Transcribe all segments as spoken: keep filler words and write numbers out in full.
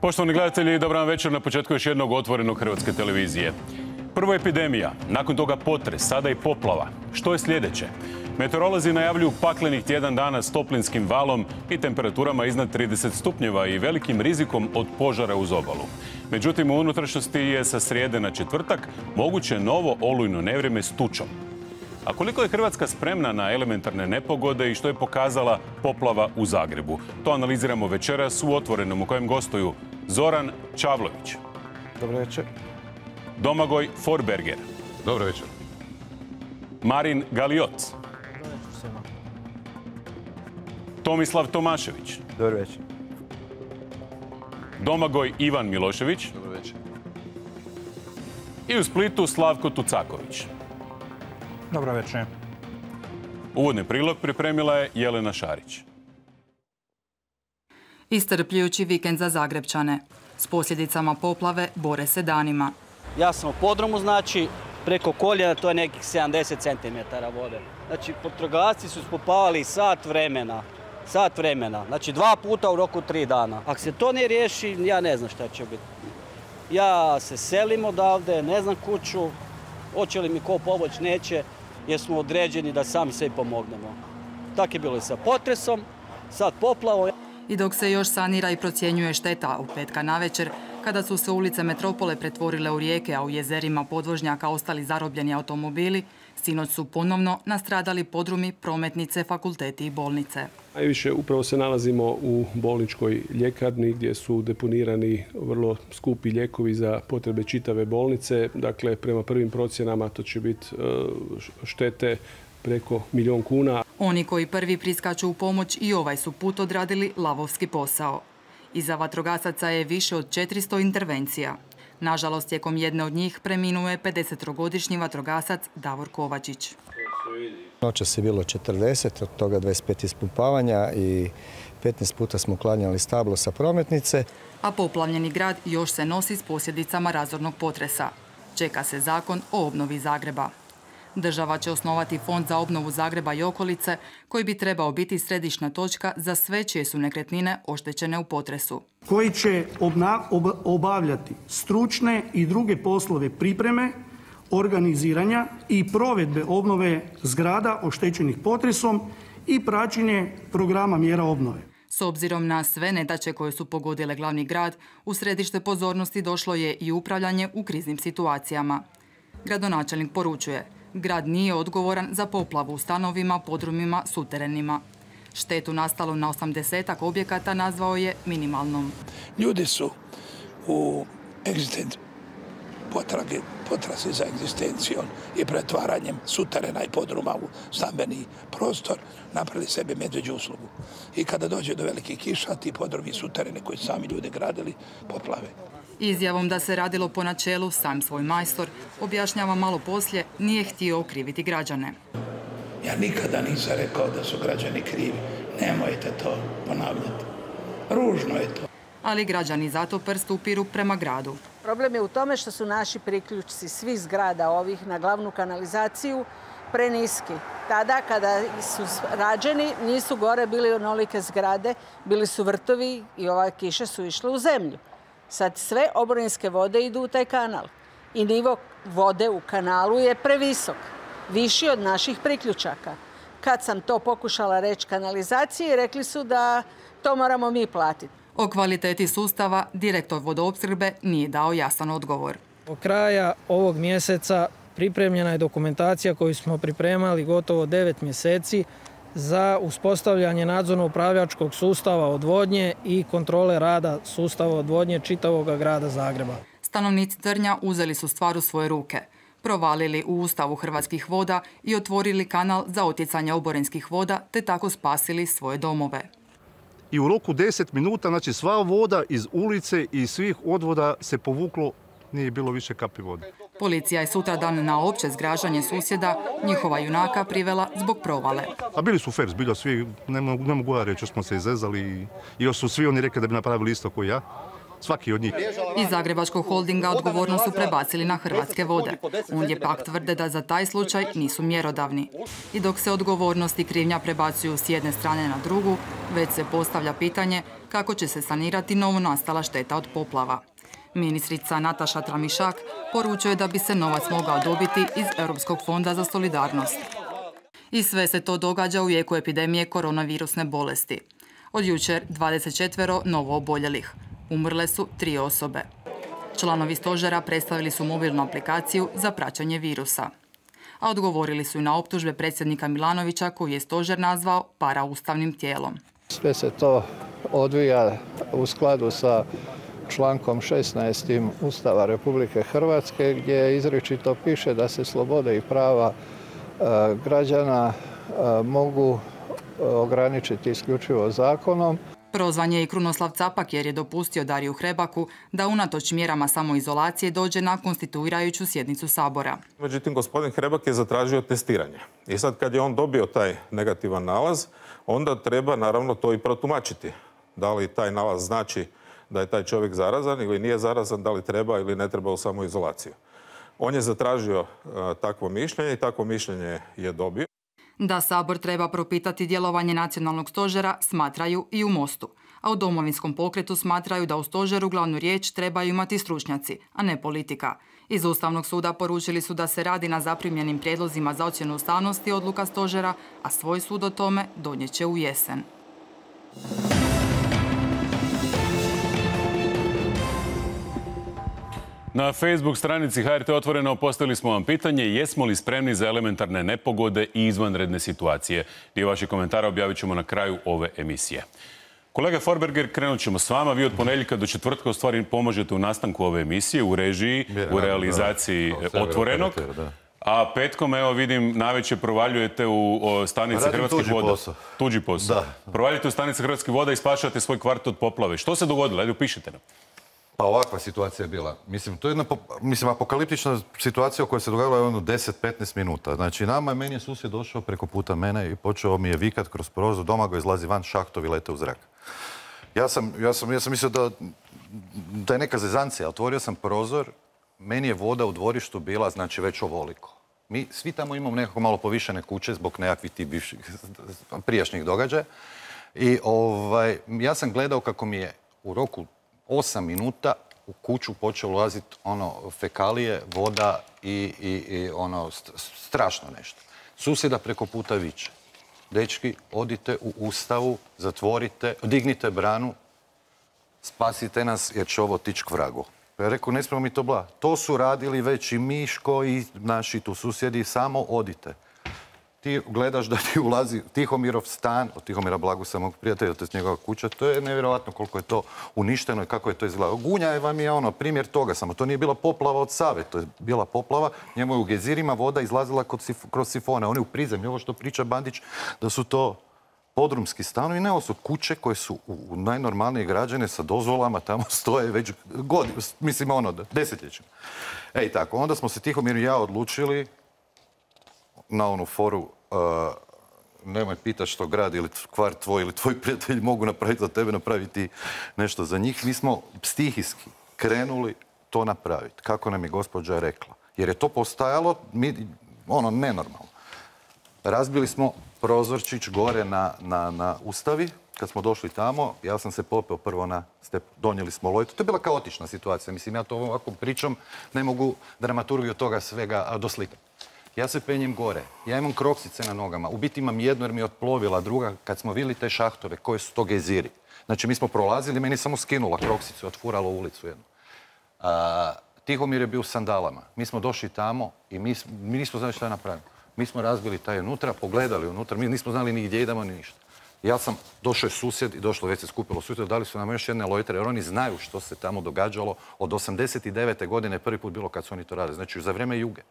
Poštovani gledatelji, dobar vam večer na početku još jednog otvorenog Hrvatske televizije. Prvo epidemija, nakon toga potres, sada i poplava. Što je sljedeće? Meteorolozi najavljuju paklenih tjedan dana s toplinskim valom i temperaturama iznad trideset stupnjeva i velikim rizikom od požara uz obalu. Međutim, u unutrašnjosti je sa srijede na četvrtak moguće novo olujno nevrijeme s tučom. A koliko je Hrvatska spremna na elementarne nepogode i što je pokazala poplava u Zagrebu? To analiziramo večeras u Otvorenom, u kojem gostuju Zoran Čavlović. Dobro večer. Domagoj Forberger. Dobro večer. Marin Galiot. Dobro večer svima. Tomislav Tomašević. Dobro večer. Domagoj Ivan Milošević. Dobro večer. I u Splitu Slavko Tucaković. Dobro večer. Uvodni prilog pripremila je Jelena Šarić. Iscrpljujući vikend za Zagrebčane. S posljedicama poplave bore se danima. Ja sam u podrumu, znači, preko koljena, to je nekih sedamdeset centimetara vode. Znači, vatrogasci su ispupavali sat vremena. Sat vremena. Znači, dva puta u roku tri dana. Ako se to ne riješi, ja ne znam šta će biti. Ja se selim odavde, ne znam kuću. Hoće li mi ko pomoć, neće, jer smo određeni da sami sebi pomognemo. Tako je bilo i sa potresom, sad poplavom. I dok se još sanira i procjenjuje šteta u petka navečer, kada su se ulice metropole pretvorile u rijeke, a u jezerima podvožnjaka ostali zarobljeni automobili, sinoć su ponovno nastradali podrumi, prometnice, fakulteti i bolnice. Najviše upravo se nalazimo u bolničkoj ljekarni gdje su deponirani vrlo skupi lijekovi za potrebe čitave bolnice. Dakle, prema prvim procjenama to će biti štete preko milijun kuna. Oni koji prvi priskaču u pomoć i ovaj su put odradili lavovski posao. Iza vatrogasaca je više od četiristo intervencija. Nažalost, tijekom jedne od njih preminuo je pedesetogodišnji vatrogasac Davor Kovačić. Noćas je bilo četrdeset, od toga dvadeset pet ispumpavanja i petnaest puta smo uklanjali stablo sa prometnice. A poplavljeni grad još se nosi s posljedicama razornog potresa. Čeka se zakon o obnovi Zagreba. Država će osnovati fond za obnovu Zagreba i okolice, koji bi trebao biti središnja točka za sve čije su nekretnine oštećene u potresu. Koji će obavljati stručne i druge poslove pripreme, organiziranja i provedbe obnove zgrada oštećenih potresom i praćenje programa mjera obnove. S obzirom na sve nedaće koje su pogodile glavni grad, u središte pozornosti došlo je i upravljanje u kriznim situacijama. Gradonačelnik poručuje: grad nije odgovoran za poplavu u stanovima, podrumima, suterenima. Štetu nastalu na osamdesetak objekata nazvao je minimalnom. Ljudi su u potrage, potrazi za egzistencijom i pretvaranjem suterena i podruma u stambeni prostor napravili sebi medveđu uslugu. I kada dođe do velikih kiša, ti podrumi i sutereni koji su sami ljudi gradili poplave. Izjavom da se radilo po načelu sam svoj majstor, objašnjava malo poslije, nije htio okriviti građane. Ja nikada nisam rekao da su građani krivi. Nemojte to ponavljati. Ružno je to. Ali građani zato prst upiru prema gradu. Problem je u tome što su naši priključci svih zgrada ovih na glavnu kanalizaciju preniski. Tada kada su rađeni nisu gore bili onolike zgrade, bili su vrtovi i ove kiše su išle u zemlju. Sad sve oborinske vode idu u taj kanal i nivo vode u kanalu je previsok, viši od naših priključaka. Kad sam to pokušala reći kanalizaciji, rekli su da to moramo mi platiti. O kvaliteti sustava direktor vodoopskrbe nije dao jasan odgovor. Do kraja ovog mjeseca pripremljena je dokumentacija koju smo pripremali gotovo devet mjeseci za uspostavljanje nadzorno-upravljačkog sustava odvodnje i kontrole rada sustava odvodnje čitavog grada Zagreba. Stanovnici Trnja uzeli su stvar u svoje ruke, provalili u ustavu Hrvatskih voda i otvorili kanal za otjecanje oborinskih voda, te tako spasili svoje domove. I u roku deset minuta, znači sva voda iz ulice i svih odvoda se povuklo, nije bilo više kapi vode. Policija je sutradan na opće zgražanje susjeda njihova junaka privela zbog provale. A bili su fair, zbilja svi, ne mogu, ne mogu ja reći, još smo se izezali i još su svi oni rekli da bi napravili isto kao ja. Svaki od njih. Iz Zagrebačkog holdinga odgovornost su prebacili na Hrvatske vode. Ondje pak tvrde da za taj slučaj nisu mjerodavni. I dok se odgovornost i krivnja prebacuju s jedne strane na drugu, već se postavlja pitanje kako će se sanirati novonastala šteta od poplava. Ministrica Nataša Tramišak poručuje da bi se novac mogao dobiti iz Europskog fonda za solidarnost. I sve se to događa u jeku epidemije koronavirusne bolesti. Od jučer dvadeset četiri novo oboljelih. Umrle su tri osobe. Članovi stožera predstavili su mobilnu aplikaciju za praćenje virusa. A odgovorili su i na optužbe predsjednika Milanovića koji je stožer nazvao paraustavnim tijelom. Sve se to odvija u skladu sa člankom šesnaest Ustava Republike Hrvatske gdje izričito piše da se slobode i prava građana mogu ograničiti isključivo zakonom. Prozvan je i Krunoslav Capak jer je dopustio Dariju Hrebaku da unatoč mjerama samoizolacije dođe na konstituirajuću sjednicu Sabora. Međutim, gospodin Hrebak je zatražio testiranje. I sad kad je on dobio taj negativan nalaz, onda treba naravno to i protumačiti. Da li taj nalaz znači da je taj čovjek zarazan ili nije zarazan, da li treba ili ne treba u samoizolaciju. On je zatražio uh, takvo mišljenje i takvo mišljenje je dobio. Da Sabor treba propitati djelovanje nacionalnog stožera smatraju i u Mostu, a u Domovinskom pokretu smatraju da u stožeru glavnu riječ trebaju imati stručnjaci, a ne politika. Iz Ustavnog suda poručili su da se radi na zaprimljenim prijedlozima za ocjenu ustavnosti odluka stožera, a svoj sud o tome donijet će u jesen. Na Facebook stranici H R T Otvoreno postavili smo vam pitanje jesmo li spremni za elementarne nepogode i izvanredne situacije. Dio vaših komentara objavit ćemo na kraju ove emisije. Kolega Forberger, krenut ćemo s vama. Vi od ponedjeljka do četvrtka u stvari pomožete u nastanku ove emisije, u režiji, u realizaciji Otvorenog. A petkom, evo vidim, navečer provaljujete u stanice Hrvatskih voda. Tuđi posao. Provaljujete u stanice Hrvatskih voda i spašavate svoj kvart od poplave. Što se dogodilo? Ajde, upišite nam. Pa ovakva situacija je bila. Mislim, to je jedna mislim, apokaliptična situacija koja se dogodila jedno deset do petnaest minuta. Znači, nama, meni je susjed došao preko puta mene i počeo mi je vikat kroz prozor, doma ga izlazi van, šahtovi lete u zrak. Ja sam, ja sam, ja sam mislio da, da je neka zezancija. Otvorio sam prozor, meni je voda u dvorištu bila, znači, već ovoliko. Mi svi tamo imamo nekako malo povišene kuće zbog nekakvih tih bivših, prijašnjih događaja. I ovaj, ja sam gledao kako mi je u roku osam minuta u kuću počelo ulaziti ono fekalije, voda i, i, i ono strašno nešto. Susjeda preko puta viče. Dečki, odite u ustavu, zatvorite, dignite branu, spasite nas jer će ovo tići k vragu. Ja rekao, ne smijemo mi to bla. To su radili već i Miško i naši tu susjedi, samo odite. Ti gledaš da ti ulazi Tihomirov stan, od Tihomira Blagusa, mog prijatelja, to je njegova kuća, to je nevjerojatno koliko je to uništeno i kako je to izgledalo. Gunja vam je ono primjer toga, samo to nije bila poplava od Save, to je bila poplava, njemu je u gezirima voda izlazila kroz sifone, oni u prizemlju, ovo što priča Bandić, da su to podrumski stanovi, ne, ovo su kuće koje su u najnormalnije građane sa dozvolama, tamo stoje već godinu, mislim ono, desetljećima. Ej tako, onda smo se Tihomir i ja odlučili na onu foru, uh, nemoj pitati što grad ili kvart tvoj ili tvoji prijatelji mogu napraviti za tebe, napraviti nešto za njih. Mi smo stihijski krenuli to napraviti, kako nam je gospođa rekla. Jer je to postajalo, mi, ono, nenormalno. Razbili smo prozorčić gore na, na, na Ustavi. Kad smo došli tamo, ja sam se popeo prvo na step, donijeli smo lojtu. To je bila kaotična situacija. Mislim, ja to ovako pričam, ne mogu dramaturgiju toga svega doslikati. Ja se penjem gore, ja imam kroksice na nogama, u biti imam jednu jer mi je otplovila, druga kad smo vidjeli te šahtove, koje su to geziri. Znači mi smo prolazili, meni je samo skinula kroksicu, otfurala ulicu jednu. A, Tihomir je bio u sandalama, mi smo došli tamo i mi, mi nismo znali šta napravimo. Mi smo razbili taj unutra, pogledali unutra, mi nismo znali ni gdje idemo ni ništa. Ja sam, došao je susjed i došlo, već se skupilo susjed, dali su nam još jedne lojtere, jer oni znaju što se tamo događalo. Od osamdeset devete godine prvi put bilo kad su oni to radili, znači za vrijeme Juge.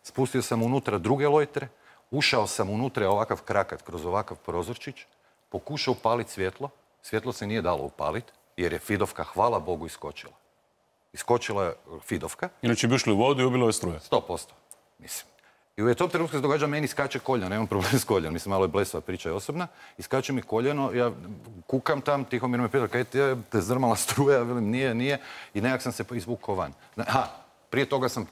Spustio sam unutra druge lojtre, ušao sam unutra ovakav krakat kroz ovakav prozorčić, pokušao upaliti svjetlo, svjetlo se nije dalo upaliti, jer je Fidovka, hvala Bogu, iskočila. Iskočila je Fidovka. Inače bi ušli u vodu i ubilo je struje. sto posto, mislim. I u tom trenutku se događa, meni skače koljeno, nemam problem s koljenom, mislim, malo je blesava priča je osobna, i skače mi koljeno, ja kukam tam, Tihomir me pita, kaj ti je, te zdrmala struja, velim, nije, nije, i nekak sam se izvukao van. Ha, prije toga sam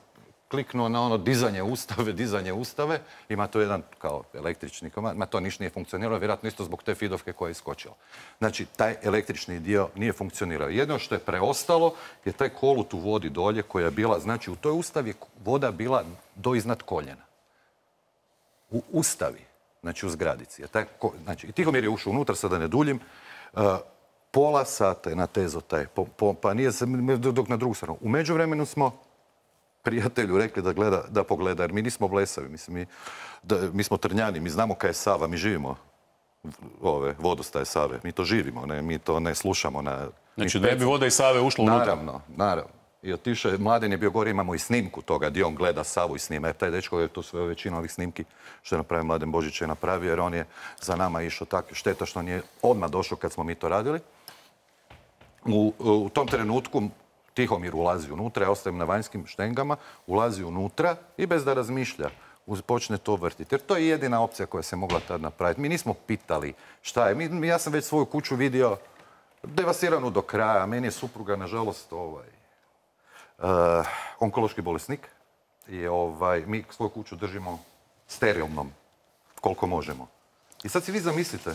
kliknuo na ono dizanje ustave, dizanje ustave, ima to jedan kao električni komad, ma to ništa nije funkcioniralo, vjerojatno isto zbog te fidovke koja je iskočila. Znači, taj električni dio nije funkcionirao. Jedno što je preostalo je taj kolut u vodi dolje koja je bila, znači u toj ustavi je voda bila do iznad koljena. U ustavi, znači u zgradici. Taj, znači, i Tihomir je ušao unutra, sada ne duljim, uh, pola sata je natezo taj, po, po, pa nije se, dok na drugu stranu. U međuvremenu smo prijatelju rekli da, gleda, da pogleda, jer mi nismo blesavi, mislim, mi, da, mi smo Trnjani, mi znamo kaj je Sava, mi živimo ove vodostaje Save, mi to živimo, ne, mi to ne slušamo na... Znači da je bi voda iz Save ušla unutra? Naravno, naravno. I otišao je, Mladen je bio gore, imamo i snimku toga, gdje on gleda Savu i snima, jer taj dečko je to sve većina ovih snimki što je napravio Mladen Božić je napravio, jer on je za nama išao tako, šteta što on je odmah došao kad smo mi to radili. U, u tom trenutku Tihomir ulazi unutra, ja ostajem na vanjskim štengama, ulazi unutra i bez da razmišlja počne to vrtiti. Jer to je jedina opcija koja se mogla tad napraviti. Mi nismo pitali šta je. Mi, ja sam već svoju kuću vidio devastiranu do kraja. Meni je supruga, nažalost, ovaj, uh, onkološki bolesnik. I ovaj, mi svoju kuću držimo sterilnom koliko možemo. I sad si vi zamislite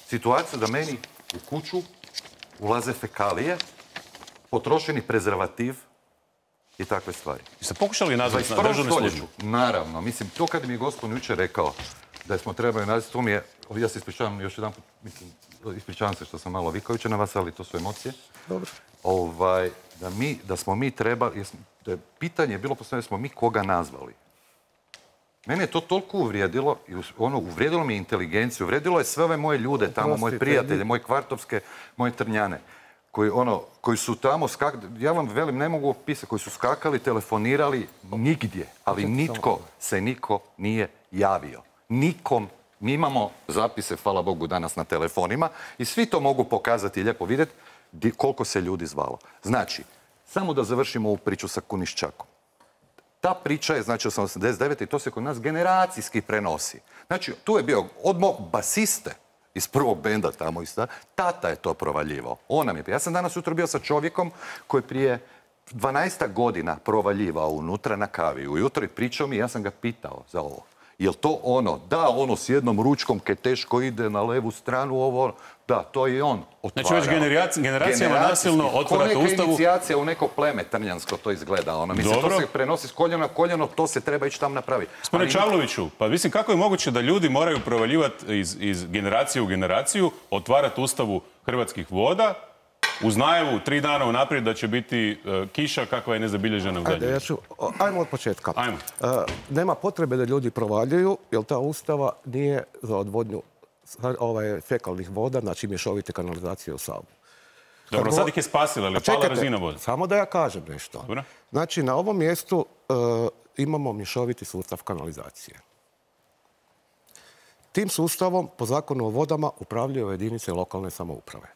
situaciju da meni u kuću ulaze fekalije, potrošeni prezervativ i takve stvari. I ste pokušali nazvati na državnu službu? Naravno. Mislim, to kad mi je gospodin jučer rekao da smo trebali nazvati, to mi je, ja se ispričavam još jedan put, mislim, ispričavam se što sam malo vikao jučer na vas, ali to su emocije. Dobro. Ovaj, da, mi, da smo mi trebali, jesmo, da je pitanje je bilo postavljeno, smo mi koga nazvali. Mene je to toliko uvrijedilo, i ono, uvrijedilo mi je inteligenciju, uvrijedilo je sve ove moje ljude tamo, moje prijatelje, moje kvartovske, moje Trnjane. Koji, ono, koji su tamo skakali, ja vam velim, ne mogu opisati, koji su skakali, telefonirali nigdje, ali nitko se niko nije javio. Nikom, mi imamo zapise, hvala Bogu, danas na telefonima i svi to mogu pokazati i lijepo vidjeti koliko se ljudi zvalo. Znači, samo da završimo ovu priču sa Kuniščakom. Ta priča je, znači, osamdeset devete i to se kod nas generacijski prenosi. Znači, tu je bio od mog basiste, iz prvog benda tamo, tata je to provaljivao. On nam je. Ja sam danas jutro bio sa čovjekom koji prije dvanaest godina provaljivao unutra na kavi. Ujutro i pričao mi, ja sam ga pitao za ovo. Je li to ono? Da, ono s jednom ručkom kaj teško ide na levu stranu, ovo ono. Da, to je on otvarao. Znači već generacijama nasilno otvarate ustavu. Ko neka inicijacija u neko pleme trnjansko to izgleda. Ono. Mislim, to se prenosi s koljena na koljeno, to se treba ići tam napraviti. Gospodine Čavloviću, pa mislim kako je moguće da ljudi moraju provaljivati iz, iz generacije u generaciju, otvarati ustavu Hrvatskih voda, uz najavu tri dana unaprijed da će biti uh, kiša kakva je nezabilježena u zadnjoj. Ajde, ja ću, ajmo od početka. Ajmo. Uh, nema potrebe da ljudi provaljuju, jer ta ustava nije za odvodnju ovaj, fekalnih voda, znači mješovite kanalizacije u Savu. Dobro, sad ih je spasila, ali je pala razina voda. Samo da ja kažem nešto. Dobro. Znači, na ovom mjestu uh, imamo mješoviti sustav kanalizacije. Tim sustavom, po zakonu o vodama, upravljaju jedinice lokalne samouprave.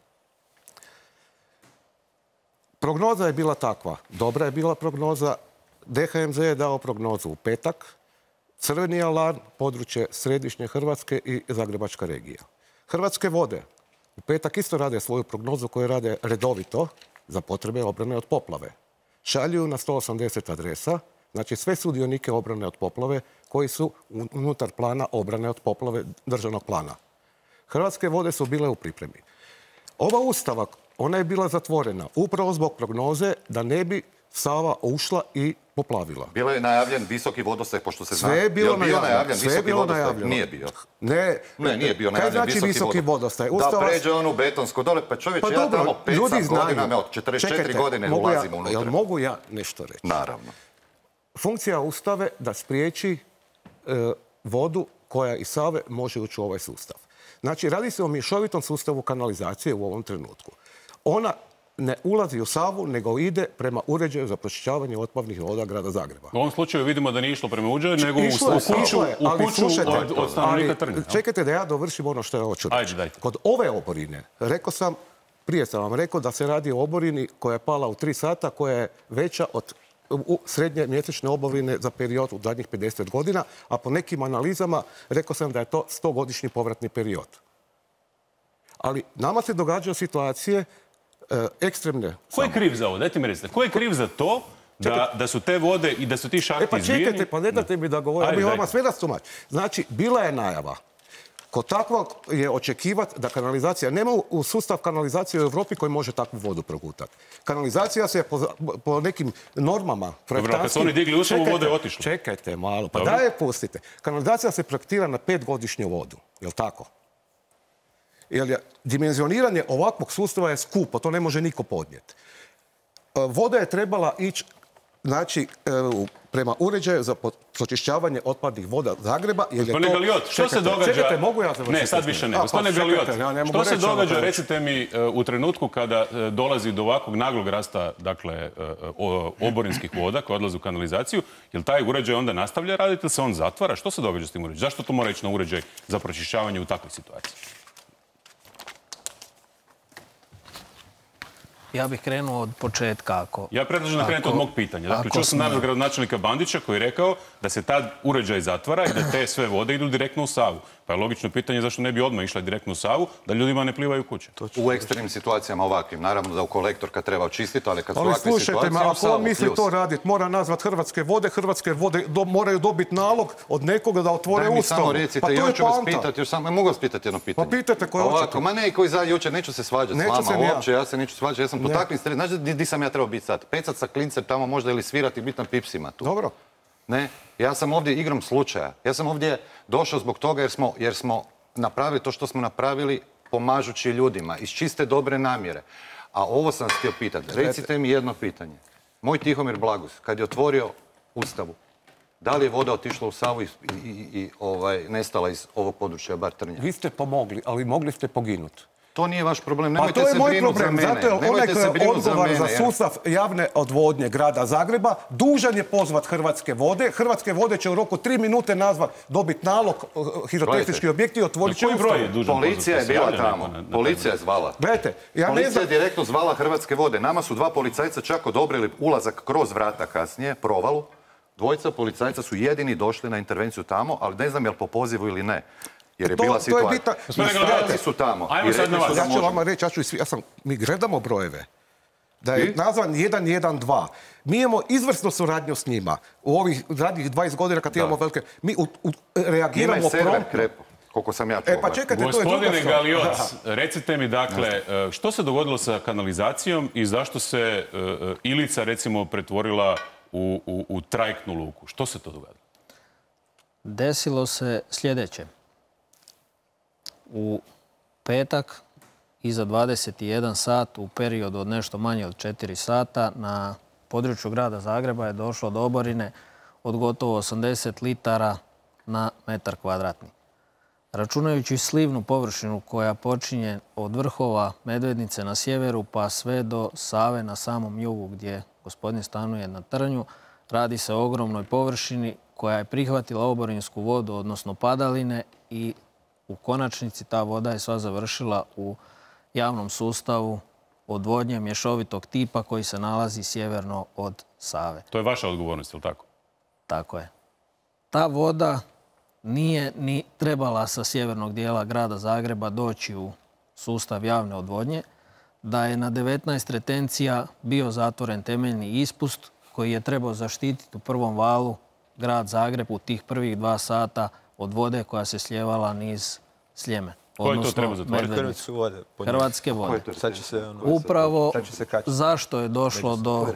Prognoza je bila takva. Dobra je bila prognoza. D H M Z je dao prognozu u petak. Crveni alarm, područje središnje Hrvatske i Zagrebačka regija. Hrvatske vode u petak isto rade svoju prognozu koju rade redovito za potrebe obrane od poplave. Šalju na sto osamdeset adresa, znači sve sudionike obrane od poplave koji su unutar plana obrane od poplave državnog plana. Hrvatske vode su bile u pripremi. Ova ustava, ona je bila zatvorena upravo zbog prognoze da ne bi Sava ušla i poplavila. Bilo je najavljen visoki vodostaj, pošto se zna. Sve je bilo najavljeno. Sve je bilo najavljeno. Nije bio. Ne, ne nije bio najavljen visoki, visoki vodostaj. Ustava... Da pređe onu betonsko dole, pa čovječ, pa ja dobro, tamo pedeset godina, od četrdeset četiri Čekajte, godine ulazimo ja, unutra. Jel mogu ja nešto reći? Naravno. Funkcija ustave da spriječi e, vodu koja iz Save može ući u ovaj sustav. Znači, radi se o mješovitom sustavu kanalizacije u ovom trenutku. Ona ne ulazi u Savu, nego ide prema uređaju za pročišćavanje otpadnih voda grada Zagreba. U ovom slučaju vidimo da nije išlo prema uređaju, nego išlo, u kuću, je, u kuću od, od stanovnika Trnja. Čekajte da ja dovršim ono što je hoću reći. Kod ove oborine, rekao sam, prije sam vam rekao da se radi o oborini koja je pala u tri sata, koja je veća od u srednje mjesečne oborine za period u zadnjih pedeset godina, a po nekim analizama rekao sam da je to stogodišnji povratni period. Ali nama se događaju situacije ekstremne. Ko je kriv za ovo? Dajte mi recite. Ko je kriv za to da, da su te vode i da su ti šahti E pa izbijeni... čekajte, pa ne date mi da govorim, Ajde, ja bih vama dajte. sve rastumač. Znači, bila je najava. Kod takvog je očekivati da kanalizacija, nema u sustav kanalizacije u Europi koji može takvu vodu progutati. Kanalizacija se po, po nekim normama Dobro, kad su oni digli ušavu, voda je otišla. Čekajte malo, pa Dobro. daj je pustite. Kanalizacija se projektira na petgodišnju vodu, je li tako? Jer je dimenzioniranje ovakvog sustava je skupo, to ne može niko podnijeti. Voda je trebala ići, znači, prema uređaju za pročišćavanje otpadnih voda Zagreba. Gospodine Galiot, što se događa... Čekajte, mogu ja završiti? Ne, sad više ne. A, Gospodine pa, Galiot, čekajte, ja ne mogu što se reći ono događa, to. recite mi, u trenutku kada dolazi do ovakvog naglog rasta, dakle, oborinskih voda koje odlaze u kanalizaciju, jel taj uređaj onda nastavlja raditi ili se on zatvara? Što se događa s tim uređajem? Zašto to mora ići na uređaj za pročišćavanje u takvoj situaciji? Ja bih krenuo od početka. Ako, ja predlažem da krenete od mog pitanja. Dakle, čuo sam smo... danas gradonačelnika Bandića koji je rekao da se tad uređaj zatvara i da te sve vode idu direktno u Savu. Pa je logično pitanje zašto ne bi odmah išla direktno u Savu, da ljudima ne plivaju kuće. U ekstremnim situacijama ovakvim. Naravno da u kolektor kad treba očistiti, ali kad su ali ovakve slušajte situacije... me, ako on misli to raditi, mora nazvat Hrvatske vode, Hrvatske vode do, moraju dobiti nalog od nekoga da otvore Daj mi ustavu. samo recite, pa to ja je ću vas poanta. pitati, još samo, mogu vas pitati jedno pitanje? Pa pitajte koje Ovako, hoćete. ma ne, koji za jučer, neću se svađati Neću s se vama ni ja. uopće, ja se neću svađati, ja sam po Ne. takvim stvarima, znaš di, di sam ja trebao biti sad? Pecat sa klincem tamo možda ili svirati i biti na pipsima tu. Dobro. Ne, ja sam ovdje igrom slučaja. Ja sam ovdje došao zbog toga jer smo, jer smo napravili to što smo napravili pomažući ljudima, iz čiste dobre namjere. A ovo sam htio pitati. Recite mi jedno pitanje. Moj Tihomir Blagus, kad je otvorio Ustavu, da li je voda otišla u Savu i, i, i ovaj, nestala iz ovog područja, bar Trnja? Vi ste pomogli, ali mogli ste poginuti. To nije vaš problem, Pa nemojte to je se moj brinuti za problem, mene. zato je onaj Nemojte koji se je brinuti za odgovoran za mene. sustav javne odvodnje grada Zagreba, dužan je pozvat Hrvatske vode. Hrvatske vode će u roku tri minute nazvat, dobiti nalog, hirotehnički objekti i otvorit će ustavu. Policija je bila tamo, policija je zvala. Gledajte, ja ne Policija znam... je direktno zvala Hrvatske vode. Nama su dva policajca čak odobrili ulazak kroz vrata kasnije, provalu. Dvojica policajca su jedini došli na intervenciju tamo, ali ne znam je li po pozivu ili ne. Jer je To- bila to je situacija. bitno. I stajali su tamo. Ajmo I sad rekli na su vas. da Ja ću možemo. vama reći, ja ću i svi, ja sam, mi gledamo brojeve. Da je I? nazvan jedan jedan dva. Mi imamo izvrsnu suradnju s njima. U ovih zadnjih dvadeset godina kad imamo velike... Mi u, u, Njima reagiramo je server promptno. krepo, koliko sam ja čuo. E pa čekajte, to je druga Gospodine stvar. Galiot, recite mi dakle, što se dogodilo sa kanalizacijom i zašto se uh, Ilica recimo pretvorila u, u, u trajektnu luku? Što se to dogodilo? Desilo se sljedeće. U petak, iza dvadeset jedan sat, u periodu od nešto manje od četiri sata, na području grada Zagreba je došlo do oborine od gotovo osamdeset litara na metar kvadratni. Računajući slivnu površinu koja počinje od vrhova Medvednice na sjeveru pa sve do Save na samom jugu gdje gospodin stanuje na Trnju, radi se o ogromnoj površini koja je prihvatila oborinsku vodu, odnosno padaline, i u konačnici ta voda je sva završila u javnom sustavu odvodnje mješovitog tipa koji se nalazi sjeverno od Save. To je vaša odgovornost, je li tako? Tako je. Ta voda nije ni trebala sa sjevernog dijela grada Zagreba doći u sustav javne odvodnje, da je na devetnaest retencija bio zatvoren temeljni ispust koji je trebao zaštititi u prvom valu grad Zagreb u tih prvih dva sata od vode koja se sljevala niz Sljeme. Ko je to trebao zatvoriti? Hrvatske vode. Hrvatske vode. Sad će se, ono, Upravo sad će se kačiti. zašto je došlo do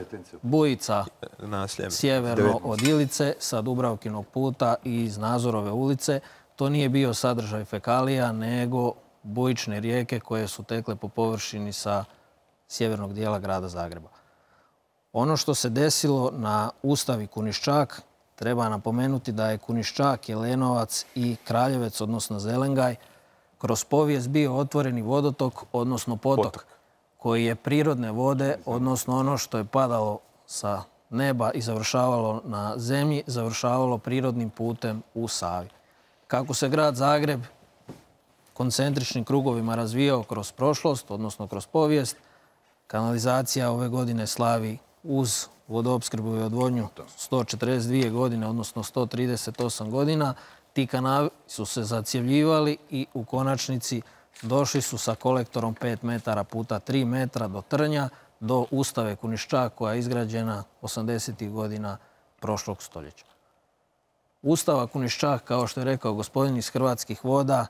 bujica Na Sljeme. sjeverno devetnaest. od Ilice sa Dubravkinog puta i iz Nazorove ulice. To nije bio sadržaj fekalija, nego bujične rijeke koje su tekle po površini sa sjevernog dijela grada Zagreba. Ono što se desilo na Ustavi Kuniščak, treba napomenuti da je Kuniščak, Jelenovac i Kraljevec, odnosno Zelengaj, kroz povijest bio otvoreni vodotok, odnosno potok, koji je prirodne vode, odnosno ono što je padalo sa neba i završavalo na zemlji, završavalo prirodnim putem u Savi. Kako se grad Zagreb koncentričnim krugovima razvijao kroz prošlost, odnosno kroz povijest, kanalizacija ove godine slavi uz vodoopskrbu i odvodnju sto četrdeset dvije godine, odnosno sto trideset osam godina. Ti kanali su se zacjevljivali i u konačnici došli su sa kolektorom pet metara puta tri metra do Trnja, do Ustave Kuniščak koja je izgrađena osamdesetih godina prošlog stoljeća. Ustava Kuniščak, kao što je rekao gospodin iz Hrvatskih voda,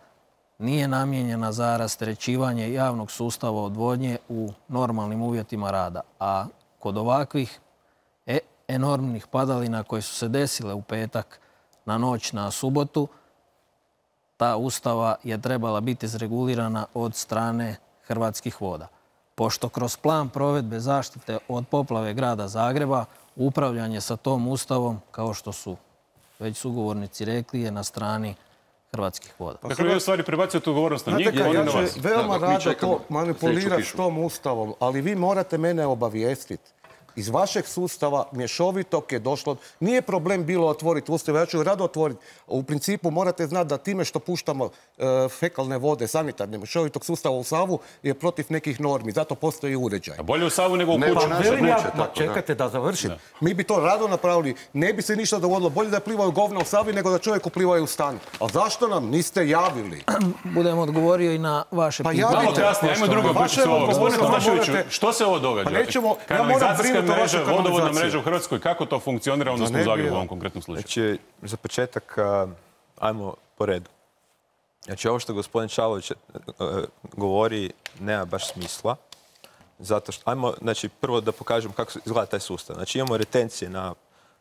nije namijenjena za rasterećivanje javnog sustava odvodnje u normalnim uvjetima rada. A kod ovakvih e enormnih padalina koje su se desile u petak na noć na subotu, ta ustava je trebala biti izregulirana od strane Hrvatskih voda. Pošto kroz plan provedbe zaštite od poplave grada Zagreba, upravljanje sa tom ustavom, kao što su već sugovornici rekli, je na strani Hrvatskih voda. Dakle, vi u stvari prebacujete odgovornost na njih, Znate, oni ja na ću vas. veoma rado to manipulirati s tom ustavom, ali vi morate mene obavijestiti. Iz vašeg sustava mješovitog je došlo... Nije problem bilo otvoriti ustav, ja ću rado otvoriti. U principu morate znati da time što puštamo e, fekalne vode, sanitarne mješovitog sustava u Savu je protiv nekih normi. Zato postoji uređaj. A bolje u Savu nego u kuću. Pa velim ja, ma, čekajte da završim. Da. Mi bi to rado napravili. Ne bi se ništa dogodilo. Bolje da plivaju govna u Savi nego da čovjeku plivaju u stan. A zašto nam niste javili? Budem odgovorio i na vaše pa pitanje. Malo kasnije, ajmo drugo pričati o ovoga. Gospodine Tomaševiću, što se ovo događa? Pa nećemo, kanalizacijska mreža, vodovodna mreža u Hrvatskoj, kako to funkcionira odnosno u Zagrebu u ovom konkretnom slučaju? Znači, za početak, ajmo po redu. Znači, ovo što gospodin Čalović govori nema baš smisla. Zato što, ajmo, znači, prvo da pokažem kako izgleda taj sustav. Znači, imamo retencije na,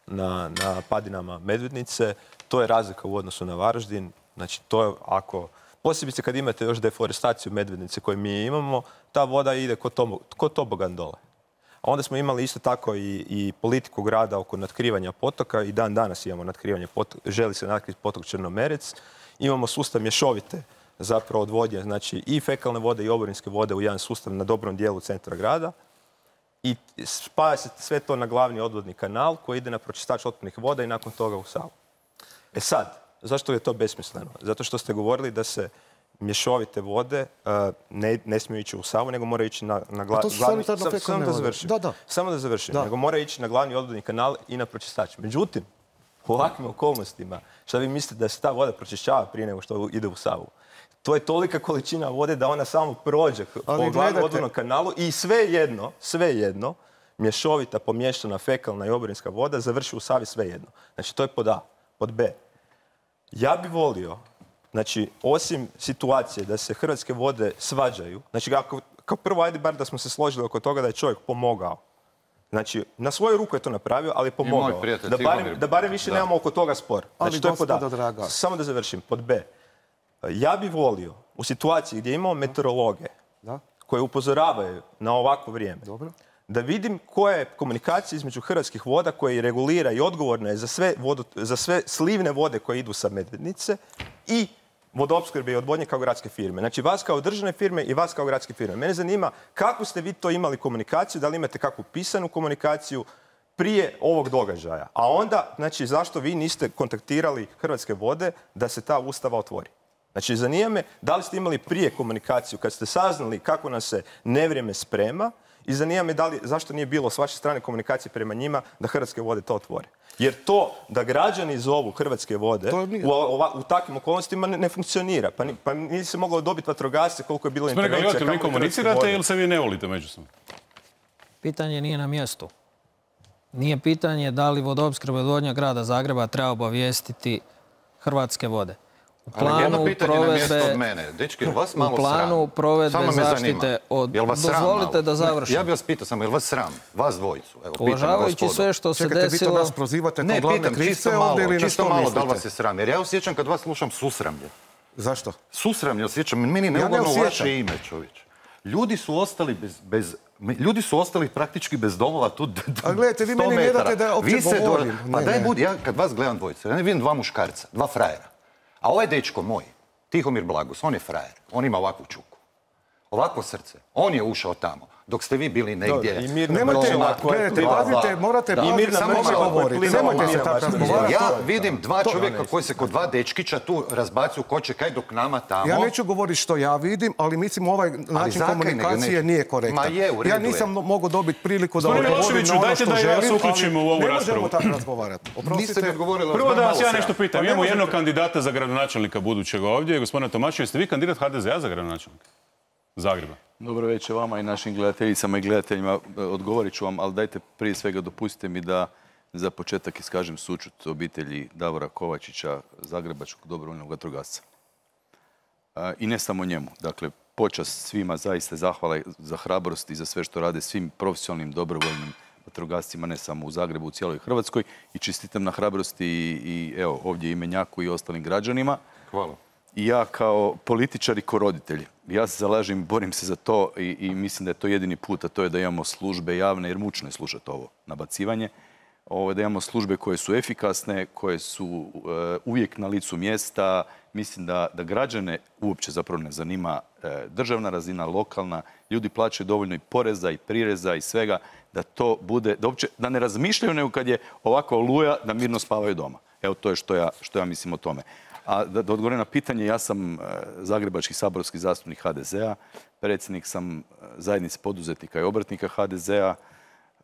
na, na padinama Medvednice. To je razlika u odnosu na Varaždin. Znači, to je ako... Posebice kad imate još deforestaciju Medvednice koju mi imamo, ta voda ide ko tobogan dole. A onda smo imali isto tako i, i politiku grada oko natkrivanja potoka i dan danas imamo natkrivanje potoka, želi se natkriti potok Črnomerec. Imamo sustav mješovite zapravo odvodnje, znači i fekalne vode i oborinske vode u jedan sustav na dobrom dijelu centra grada. I spaja se sve to na glavni odvodni kanal koji ide na pročistač otpadnih voda i nakon toga u Savu. E sad, zašto je to besmisleno? Zato što ste govorili da se mješovite vode uh, ne, ne smiju ići u Savu, nego moraju ići na, na gla, glavni... Sam, samo da završim. Da, da. Samo da završim. Da. Nego moraju ići na glavni odvodni kanal i na pročistač. Međutim, u ovakvim okolnostima, šta vi mislite da se ta voda pročišćava prije nego što ide u Savu? To je tolika količina vode da ona samo prođe po glavnom odvodnom kanalu i sve jedno, sve jedno, mješovita, pomiješana, fekalna i oborinska voda završi u Savi sve jedno. Znači, to je pod A. Pod B. Ja bi volio, znači, osim situacije da se Hrvatske vode svađaju, znači, ako, kao prvo, ajde bar da smo se složili oko toga da je čovjek pomogao. Znači, na svoju ruku je to napravio, ali je pomogao. Da barem, da barem više da. nemamo oko toga spor. Znači, ali to je pod A. Samo da završim. Pod B. Ja bi volio u situaciji gdje imamo meteorologe da. koje upozoravaju na ovakvo vrijeme, Dobro. da vidim koja je komunikacija između Hrvatskih voda koje regulira i odgovorna je za sve, vodo, za sve slivne vode koje idu sa Medvednice i vodoopskrbe i odvodnje kao gradske firme. Znači vas kao državne firme i vas kao gradske firme. Mene zanima kako ste vi to imali komunikaciju, da li imate kakvu pisanu komunikaciju prije ovog događaja. A onda, znači, zašto vi niste kontaktirali Hrvatske vode da se ta ustava otvori? Znači, zanima me da li ste imali prije komunikaciju kad ste saznali kako nam se nevrijeme sprema i zanima me da li, zašto nije bilo s vaše strane komunikacije prema njima da Hrvatske vode to otvore. Jer to da građani zovu Hrvatske vode u, ova, u takvim okolnostima ne, ne funkcionira. Pa, ni, pa nije se moglo dobiti vatrogasce koliko je bilo intervencija. Smrega, vi komunicirate ili se vi ne volite međusobno? Pitanje nije na mjestu. Nije pitanje da li vodoopskrba i odvodnja grada Zagreba treba obavijestiti Hrvatske vode. U planu provedbe, mene. Dečki, vas malo u planu provedbe zaštite od... Dozvolite da završim. Ja bih vas pitao samo, je li vas sram? Vas dvojicu. Evo, uvažavajući sve što se Čekajte, desilo... Čekajte, vi to nas prozivate kao glavne krivce ovdje ili na što mislite? Čisto malo da li vas je sram. Jer ja osjećam kad vas slušam susramlje. Zašto? Susramlje osjećam. Meni je neugodno ja vaše ime, čovječ. Ljudi su ostali bez... bez Ljudi su ostali praktički bez domova tu A gledajte, vi meni ne date da opće govorim. Pa daj budi, ja kad vas gledam dvojice, ja ne vidim dva muškarca, dva frajera. A ovaj dečko moj, Tihomir Blagus, on je frajer. On ima ovakvu čuku. Ovakvo srce. On je ušao tamo. Dok ste vi bili negdje... Nemojte, gledajte, pazite, morate... I mirna mreža govoriti. Nemojte se tako razgovarati. Ja vidim dva čovjeka koji se kod dva dečkića tu razbacuju ko će kaj dok nama tamo... Ja neću govoriti što ja vidim, ali mislim ovaj način komunikacije nije korektan. Ja nisam mogao dobiti priliku da odgovorim na ono što želim, ali ne možemo tako razgovarati. Prvo da vas ja nešto pitam. Imamo jednog kandidata za gradonačelnika budućeg ovdje, gospodina Tomaševića. Jeste vi kandidat ha de zea za gradonačelnika? Zagreba. Dobro večer vama i našim gledateljicama i gledateljima. Odgovorit ću vam, ali dajte prije svega dopustite mi da za početak iskažem sućut obitelji Davora Kovačića, zagrebačkog dobrovoljnog vatrogasca. I ne samo njemu. Dakle, počast svima, zaista zahvala za hrabrost i za sve što rade svim profesionalnim dobrovoljnim vatrogascima, ne samo u Zagrebu, u cijeloj Hrvatskoj. I čestitam na hrabrosti i, i evo, ovdje Imenjaku i ostalim građanima. Hvala. I ja kao političar i kao roditelj, ja se zalažem, borim se za to i, i mislim da je to jedini put, a to je da imamo službe javne, jer mučno je slušati ovo nabacivanje, ovo, da imamo službe koje su efikasne, koje su uh, uvijek na licu mjesta. Mislim da, da građane uopće zapravo ne zanima uh, državna razina, lokalna, ljudi plaćaju dovoljno i poreza i prireza i svega, da to bude, da, uopće, da ne razmišljaju nego kad je ovako oluja, da mirno spavaju doma. Evo, to je što ja, što ja mislim o tome. A da, da odgovorim na pitanje, ja sam uh, zagrebački saborski zastupnik ha de zea, predsjednik sam uh, zajednice poduzetnika i obrtnika ha de zea.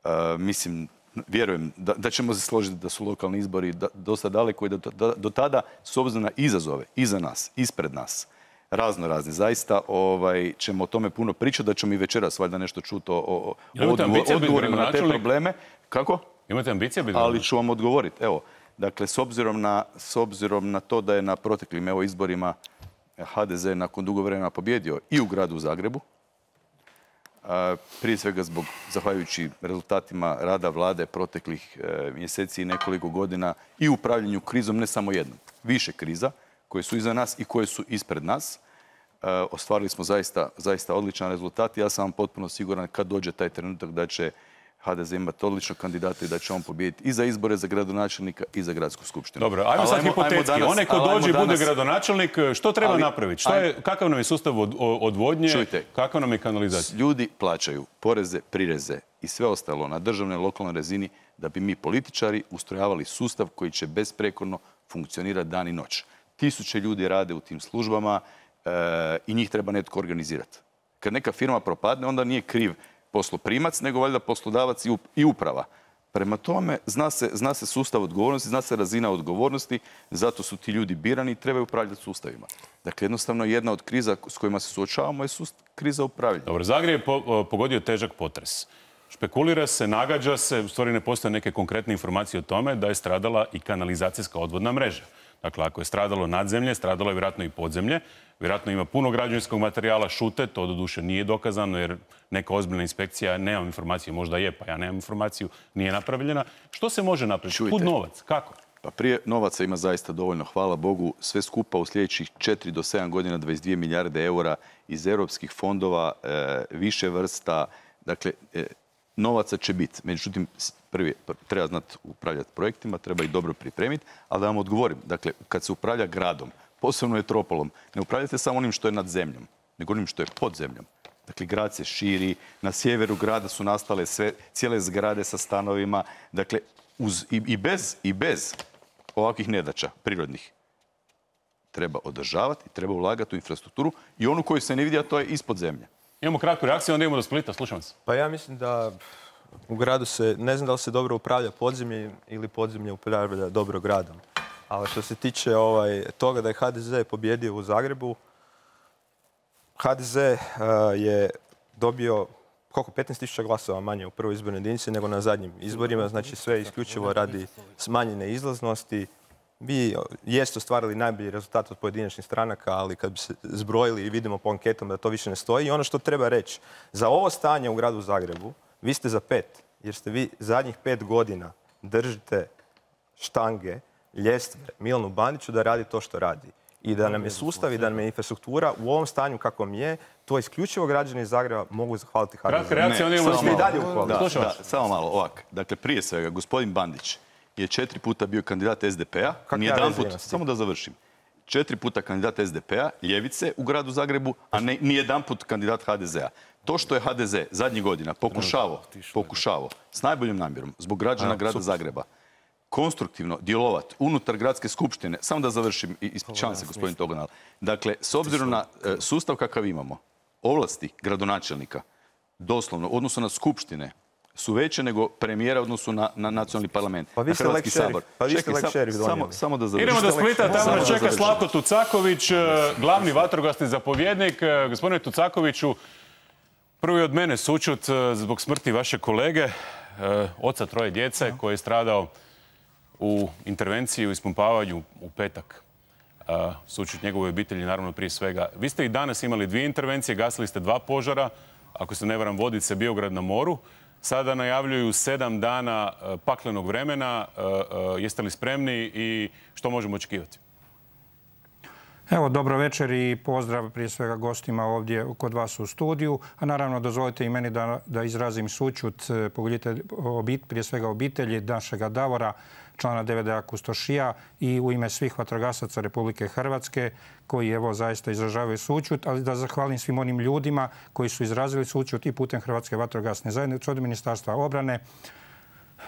Uh, mislim, vjerujem da, da ćemo se složiti da su lokalni izbori da, dosta daleko i da, da do tada, s obzirom na izazove, iza nas, ispred nas, razno razni, zaista ovaj, ćemo o tome puno pričati, da ćemo i večeras valjda nešto čuti o, o, o odgovor, odgovorima na te probleme. Kako? Imate ambicije biti? Ali ću vam odgovoriti. Evo, dakle, s obzirom na, s obzirom na to da je na proteklim evo, izborima ha de ze nakon dugo vremena pobjedio i u gradu Zagrebu, prije svega zbog, zahvaljujući rezultatima rada vlade proteklih e, mjeseci i nekoliko godina i upravljanju krizom, ne samo jednom, više kriza koje su iza nas i koje su ispred nas. E, ostvarili smo zaista, zaista odličan rezultat i ja sam vam potpuno siguran kad dođe taj trenutak da će ha de ze imati odličnog kandidata i da će on pobijediti i za izbore za gradonačelnika i za gradsku skupštinu. Dobro, ajmo sad hipotetski. Onaj ko dođe i bude gradonačelnik, što treba ali, napraviti? Što je, kakav nam je sustav od, odvodnje, čujte, kakav nam je kanalizacija? Ljudi plaćaju poreze, prireze i sve ostalo na državnoj lokalnoj razini da bi mi političari ustrojavali sustav koji će besprekorno funkcionirati dan i noć. Tisuće ljudi rade u tim službama e, i njih treba netko organizirati. Kad neka firma propadne, onda nije kriv posloprimac, nego valjda poslodavac i uprava. Prema tome, zna se, zna se sustav odgovornosti, zna se razina odgovornosti, zato su ti ljudi birani i trebaju upravljati sustavima. Dakle, jednostavno jedna od kriza s kojima se suočavamo je kriza upravljanja. Dobro, Zagreb je po, pogodio težak potres. Špekulira se, nagađa se, u stvari ne postoje neke konkretne informacije o tome da je stradala i kanalizacijska odvodna mreža. Dakle, ako je stradalo nadzemlje, stradalo je vjerojatno i podzemlje. Vjerojatno ima puno građevinskog materijala, šute, to doduše nije dokazano jer neka ozbiljna inspekcija, nemam informaciju, možda je, pa ja nemam informaciju, nije napravljena. Što se može napraviti? Kud novac? Kako? Pa prije novaca ima zaista dovoljno, hvala Bogu, sve skupa u sljedećih četiri do sedam godina dvadeset dvije milijarde eura iz europskih fondova, e, više vrsta, dakle, e, novaca će biti. Međutim, prvi, treba znati upravljati projektima, treba ih dobro pripremiti, ali da vam odgovorim, dakle, kad se upravlja gradom, posebno metropolom, ne upravljate samo onim što je nad zemljom, nego onim što je pod zemljom. Dakle, grad se širi, na sjeveru grada su nastale sve, cijele zgrade sa stanovima, dakle, uz, i, i, bez, i bez ovakvih nedaća prirodnih treba održavati i treba ulagati u infrastrukturu i onu koju se ne vidi, a to je ispod zemlje. Imamo kratku reakciju, onda idemo do Splita, slušam se. Pa ja mislim da u gradu se, ne znam da li se dobro upravlja podzemlje ili podzemlje upravlja dobro gradom. Ali što se tiče ovaj, toga da je ha de ze pobjedio u Zagrebu, ha de ze uh, je dobio koliko, petnaest tisuća glasova manje u prvoj izbornoj jedinici nego na zadnjim izborima. Znači sve isključivo radi smanjene izlaznosti. Vi jeste ostvarili najbolji rezultat od pojedinačnih stranaka, ali kad bi se zbrojili i vidimo po anketom da to više ne stoji. I ono što treba reći, za ovo stanje u gradu Zagrebu, vi ste za pet, jer ste vi zadnjih pet godina držite štange, ljestve Milanu Bandiću da radi to što radi. I da nam je sustav i da nam je infrastruktura u ovom stanju kakvom je, to isključivo građani iz Zagreba mogu zahvaliti ha de ze. Ne, samo, malo. Da, da, samo malo, ovak. Dakle, prije svega, gospodin Bandić je četiri puta bio kandidat es de pe-a, nijedan put, samo da završim, četiri puta kandidat es de pe-a, ljevice u gradu Zagrebu, a ne, nijedan put kandidat ha de ze-a. To što je ha de ze zadnjih godina pokušavao, pokušavao s najboljom namjerom, zbog građana grada Zagreba, konstruktivno djelovati unutar gradske skupštine, samo da završim i ispričavam se gospodin Toganal. Dakle, s obzirom na sustav kakav imamo, ovlasti gradonačelnika, doslovno, u odnosu na skupštine, su veće nego premijera u odnosu na, na nacionalni parlament. Pa vi ste lek šerif. Pa vi ste lek šerif donijeli. Samo, samo da završim. Idemo do Splita, tamo nas čeka Slavko Tucaković, glavni vatrogasni zapovjednik. Gospodine Tucakoviću, prvi od mene sućut zbog smrti vaše kolege, oca troje djece, koji je stradao u intervenciji, u ispumpavanju u petak. Sućut njegovoj obitelji, naravno prije svega. Vi ste i danas imali dvije intervencije, gasili ste dva požara, ako se ne varam, Vodice, Biograd na moru. Sada najavljuju sedam dana paklenog vremena. Jeste li spremni i što možemo očekivati? Evo, dobro večer i pozdrav prije svega gostima ovdje kod vas u studiju. A naravno, dozvolite i meni da, da izrazim sućut prije svega obitelji našega Davora, člana D V D-a Kustošija, i u ime svih vatrogasaca Republike Hrvatske koji evo zaista izražavaju sućut, ali da zahvalim svim onim ljudima koji su izrazili sućut i putem Hrvatske vatrogasne zajednice, od Ministarstva obrane,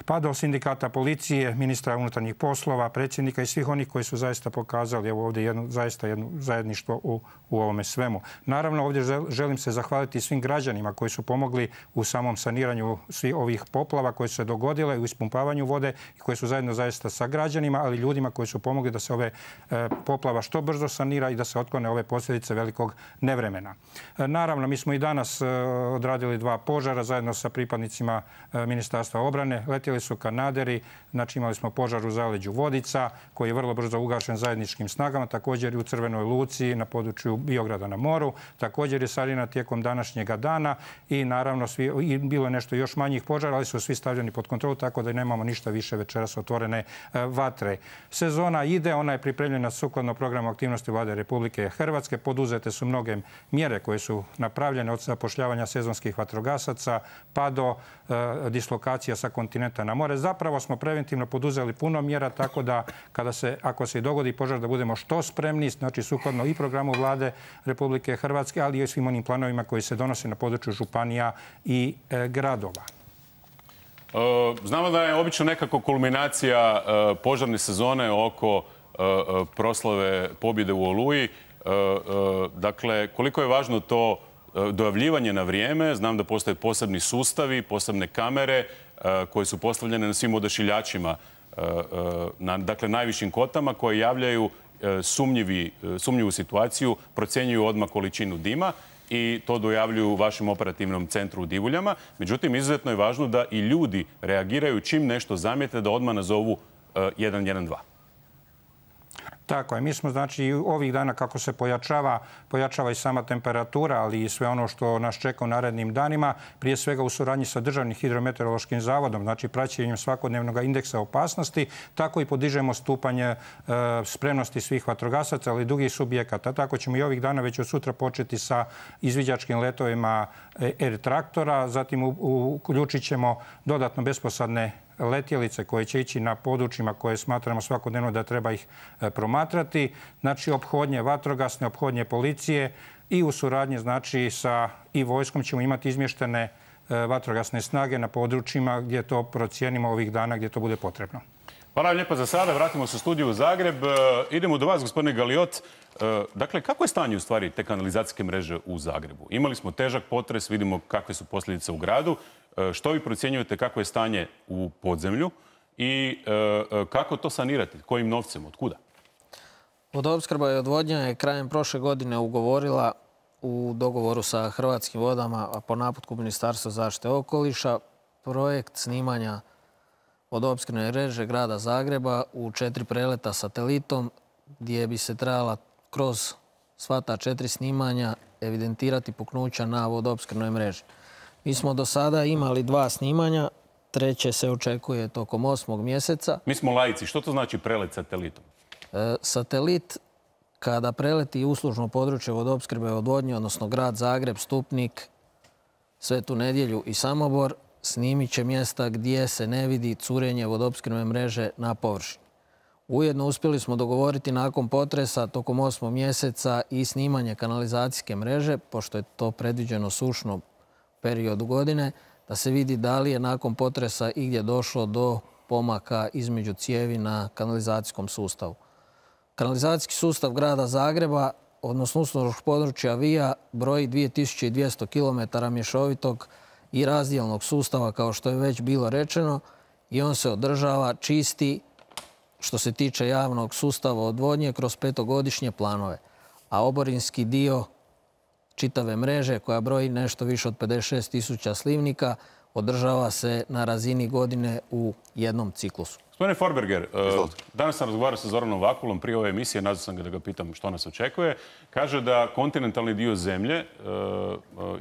pa do sindikata policije, ministra unutarnjih poslova, predsjednika i svih onih koji su zaista pokazali evo ovdje jedno, zaista jedno zajedništvo u, u ovome svemu. Naravno, ovdje želim se zahvaliti svim građanima koji su pomogli u samom saniranju svih ovih poplava koje su se dogodile, u ispumpavanju vode i koji su zajedno zaista sa građanima, ali ljudima koji su pomogli da se ove e, poplava što brzo sanira i da se otklone ove posljedice velikog nevremena. E, naravno, mi smo i danas e, odradili dva požara zajedno sa pripadnicima e, Ministarstva obrane. Letjeli su kanaderi, znači imali smo požar u zaleđu Vodica koji je vrlo brzo ugašen zajedničkim snagama, također i u Crvenoj Luci na području Biograda na moru. Također je sanirana tijekom današnjega dana i naravno svi, i bilo je nešto još manjih požara, ali su svi stavljeni pod kontrolu, tako da nemamo ništa više večeras otvorene e, vatre. Sezona ide, ona je pripremljena sukladno programu aktivnosti Vlade Republike Hrvatske. Poduzete su mnoge mjere koje su napravljene od zapošljavanja sezonskih vatrogasaca pa do e, dislokacija sa kontinenta na more. Zapravo smo preventivno poduzeli puno mjera, tako da kada se, ako se i dogodi požar, da budemo što spremni, znači sukladno i programu Vlade Republike Hrvatske, ali i svim onim planovima koji se donose na području županija i e, gradova. Znamo da je obično nekako kulminacija požarne sezone oko proslave pobjede u Oluji. Dakle, koliko je važno to dojavljivanje na vrijeme? Znam da postoje posebni sustavi, posebne kamere koje su postavljene na svim odašiljačima, na dakle, najvišim kotama, koje javljaju sumnjivi, sumnjivu situaciju, procjenjuju odmah količinu dima i to dojavljuju u vašem operativnom centru u Divuljama. Međutim, izuzetno je važno da i ljudi reagiraju čim nešto zamijete, da odmah nazovu jedan jedan dva. Tako je. Mi smo, znači, ovih dana kako se pojačava, pojačava i sama temperatura, ali i sve ono što nas čeka u narednim danima, prije svega u suradnji sa Državnim hidrometeorološkim zavodom, znači praćenjem svakodnevnog indeksa opasnosti, tako i podižemo stupanje e, spremnosti svih vatrogasaca, ali i drugih subjekata. Tako ćemo i ovih dana već od sutra početi sa izviđačkim letovima Air traktora, zatim uključit ćemo dodatno besposadne letjelice koje će ići na područjima koje smatramo svakodnevno da treba ih promatrati. Znači, ophodnje vatrogasne, ophodnje policije i u suradnji, znači, sa i vojskom ćemo imati izmještene vatrogasne snage na područjima gdje to procijenimo ovih dana gdje to bude potrebno. Hvala vam lijepo za sada. Vratimo se u studiju u Zagreb. Idemo do vas, gospodine Galiot. Dakle, kako je stanje u stvari te kanalizacijske mreže u Zagrebu? Imali smo težak potres, vidimo kakve su posljedice u gradu. Što vi procjenjujete kako je stanje u podzemlju i kako to sanirati? Kojim novcem? Od kuda? Vodoopskrba i odvodnja je krajem prošle godine ugovorila u dogovoru sa Hrvatskim vodama, a po naputku Ministarstva zaštite okoliša, projekt snimanja vodoopskrbne mreže grada Zagreba u četiri preleta satelitom, gdje bi se trebala kroz sva ta četiri snimanja evidentirati puknuća na vodoopskrbnoj mreži. Mi smo do sada imali dva snimanja, treće se očekuje tokom osmog mjeseca. Mi smo laici. Što to znači prelet satelitom? E, satelit, kada preleti uslužno područje vodoopskrbe i odvodnje, odnosno grad Zagreb, Stupnik, Svetu Nedjelju i Samobor, snimit će mjesta gdje se ne vidi curenje vodoopskrbne mreže na površini. Ujedno uspjeli smo dogovoriti nakon potresa tokom osmog mjeseca i snimanje kanalizacijske mreže, pošto je to predviđeno sušno periodu godine, da se vidi da li je nakon potresa igdje došlo do pomaka između cijevi na kanalizacijskom sustavu. Kanalizacijski sustav grada Zagreba, odnosno uslužnog područja Vija, broji dvije tisuće dvjesto kilometara mješovitog i razdjelnog sustava, kao što je već bilo rečeno, i on se održava čisti što se tiče javnog sustava odvodnje kroz petogodišnje planove. A oborinski dio čitave mreže, koja broji nešto više od pedeset šest tisuća slivnika, održava se na razini godine u jednom ciklusu. Gospodine Forberger, danas sam razgovarao sa Zoranom Vakulom prije ove emisije, nazvao sam ga da ga pitam što nas očekuje. Kaže da kontinentalni dio zemlje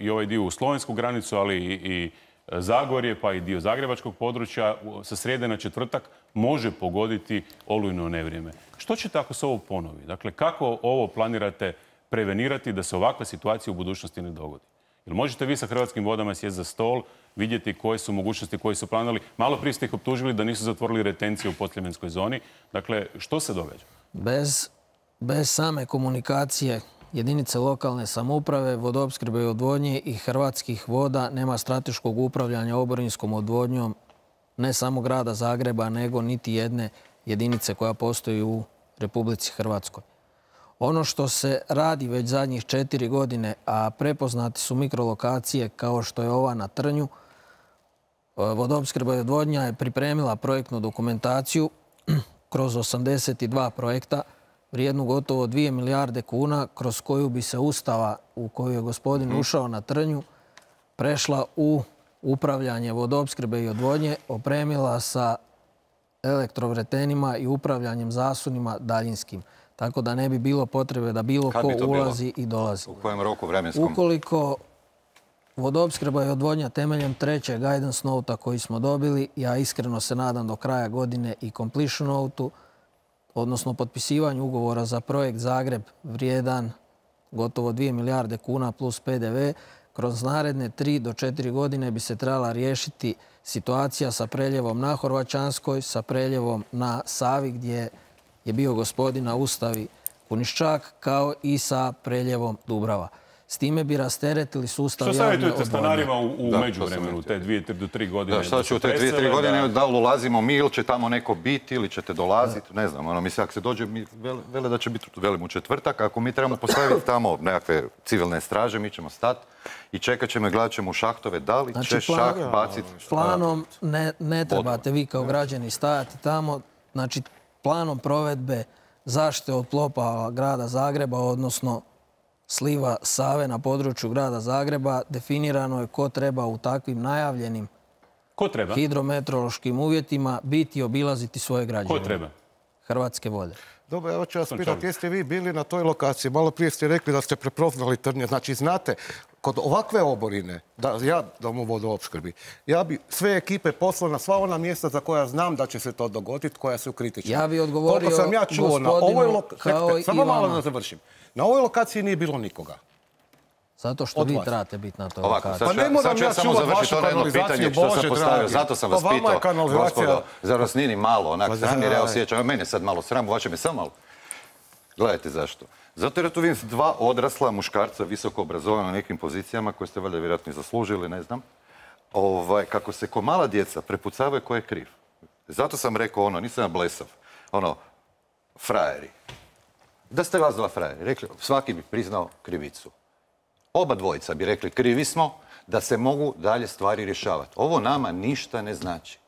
i ovaj dio u slovensku granicu, ali i Zagorje, pa i dio zagrebačkog područja sa srijede na četvrtak može pogoditi olujno nevrijeme. Što ćete ako se ovo ponovi? Dakle, kako ovo planirate prevenirati da se ovakva situacija u budućnosti ne dogodi? Jel možete vi sa Hrvatskim vodama sjesti za stol, vidjeti koje su mogućnosti, koje su planirali? Malo prije ste ih optužili da nisu zatvorili retencije u podsljemenskoj zoni. Dakle, što se događa? Bez, bez same komunikacije jedinice lokalne samouprave, vodoopskrbe i odvodnje i Hrvatskih voda nema strateškog upravljanja oborinskom odvodnjom ne samo grada Zagreba, nego niti jedne jedinice koja postoji u Republici Hrvatskoj. Ono što se radi već zadnjih četiri godine, a prepoznati su mikrolokacije kao što je ova na Trnju, vodoopskrba i odvodnja je pripremila projektnu dokumentaciju kroz osamdeset dva projekta, vrijednu gotovo dvije milijarde kuna, kroz koju bi se ustava u koju je gospodin ušao na Trnju prešla u upravljanje vodoopskrbe i odvodnje, opremila sa elektrovretenima i upravljanjem zasunima daljinskim. Tako da ne bi bilo potrebe da bilo ko ulazi i dolazi. U kojem roku vremenskom? Ukoliko vodoopskrba i odvodnja temeljem trećeg guidance nota koji smo dobili, ja iskreno se nadam do kraja godine i completion notu, odnosno potpisivanju ugovora za projekt Zagreb vrijedan gotovo dvije milijarde kuna plus P D V, kroz naredne tri do četiri godine bi se trebala riješiti situacija sa preljevom na Horvaćanskoj, sa preljevom na Savi gdje je bio gospodin na Ustavi Kuniščak, kao i sa preljevom Dubrava. S time bi rasteretili sustav javne odvodnje. Što savjetujete stanarima u međuvremenu, te dvije do tri godine? Šta će u te dvije, tri godine, da li ulazimo mi ili će tamo neko biti ili ćete dolaziti, ne znam. Mislim, ako se dođe, vele da će biti, velim, u četvrtak, ako mi trebamo postaviti tamo nekakve civilne straže, mi ćemo stati i čekat ćemo i gledat ćemo u šahtove, da li će šah baciti... Planom ne trebate vi kao građani stajati tamo, znači planom provedbe zaštite od poplava grada Zagreba, odnosno sliva Save na području grada Zagreba, definirano je ko treba u takvim najavljenim hidrometeorološkim uvjetima biti i obilaziti svoje građane. Ko treba? Hrvatske vode. Dobro, evo ću vas pitati, jeste vi bili na toj lokaciji? Malo prije ste rekli da ste prepoznali Trnje. Znači, znate, kod ovakve oborine, da ja dam u vodoopskrbi, ja bi sve ekipe poslao na sva ona mjesta za koja znam da će se to dogoditi, koja su kritična. Ja bi odgovorio sam ja čuo na ovoj kao i samo malo da završim. Na ovoj lokaciji nije bilo nikoga. Zato što vi trebate biti na toj lokaciji. Pa ne moram ja čuvat vašu kanalizaciju, Bože dragi. Zato sam vas pitao, gospodo, zar vas nije ni malo, onak, sram jer ja osjećam, mene sad malo sram, vaše me samo malo. Gledajte zašto. Zato jer tu vidim dva odrasla muškarca, visoko obrazovana na nekim pozicijama koje ste valjda vjerojatno i zaslužili, ne znam. Kako se ko mala djeca prepucavaju ko je kriv. Zato sam rekao ono, nisam ja blesav, ono, frajeri. Da ste vas dva frajeri, rekli, svaki bi priznao krivicu. Oba dvojica bi rekli krivi smo da se mogu dalje stvari rješavati. Ovo nama ništa ne znači.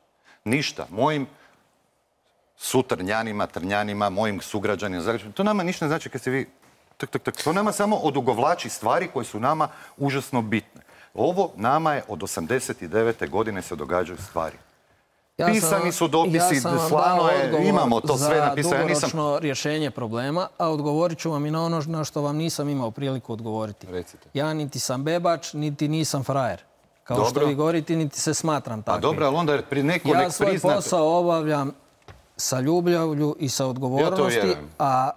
Ništa. Mojim sutrnjanima, trnjanima, mojim sugrađanima, to nama ništa ne znači kad se vi... To nama samo odugovlači stvari koje su nama užasno bitne. Ovo nama je od osamdeset devete godine se događaju stvari. Pisani su dopisi, slano je, imamo to sve napisano. Ja sam vam dao odgovor za dugoročno rješenje problema, a odgovorit ću vam i na ono na što vam nisam imao priliku odgovoriti. Ja niti sam bebač, niti nisam frajer. Kao što vi govorite, niti se smatram takvim. A dobro, ali onda pri neko nek priznate... Ja svoj posao obavljam sa ljubavlju i sa odgovornosti, a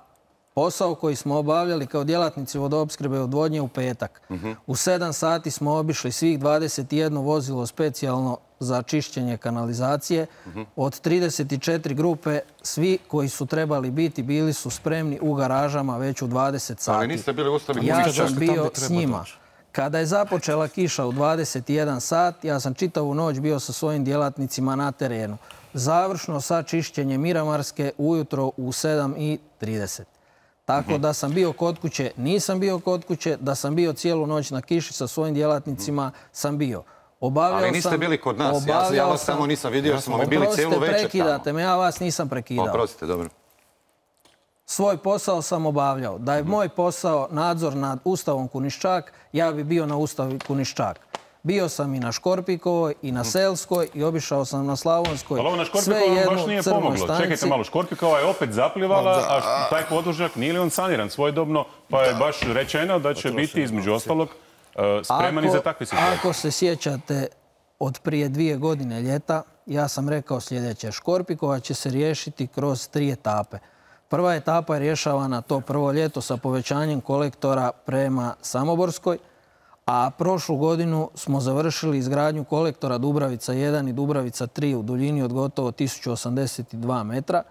posao koji smo obavljali kao djelatnici vodoopskrbe i odvodnje u petak. U sedam sati smo obišli svih dvadeset jedno vozilo specijalno za čišćenje kanalizacije. Od trideset četiri grupe, svi koji su trebali biti, bili su spremni u garažama već u dvadeset sati. Ali niste bili ustali... Ja sam bio s njima. Kada je započela kiša u dvadeset jedan sat, ja sam čitavu noć bio sa svojim djelatnicima na terenu. Završno sa čišćenjem Miramarske ujutro u sedam i trideset. Tako da sam bio kod kuće, nisam bio kod kuće, da sam bio cijelu noć na kiši sa svojim djelatnicima, sam bio. Ali niste bili kod nas, ja vas samo nisam vidio jer smo mi bili cijelu večer tamo. Oprostite, prekidate me, ja vas nisam prekidao. Oprostite, dobro. Svoj posao sam obavljao. Da je moj posao nadzor nad Ustavom Kuniščak, ja bi bio na Ustavu Kuniščak. Bio sam i na Škorpikovoj, i na Selskoj, i obišao sam na Slavonskoj. Ali ovo na Škorpikovoj baš nije pomoglo. Čekajte malo, Škorpikova je opet zaplivala, a taj podvožnjak nije li on saniran svojedobno, pa je baš rečeno da će biti, između ostalog, spreman i za takve situacije. Ako se sjećate od prije dvije godine ljeta, ja sam rekao sljedeće. Škorpikova će se riješiti kroz tri etape. Prva etapa je rješavana to prvo ljeto sa povećanjem kolektora prema Samoborskoj, a prošlu godinu smo završili izgradnju kolektora Dubravica jedan i Dubravica tri u duljini od gotovo tisuću osamdeset dva metra.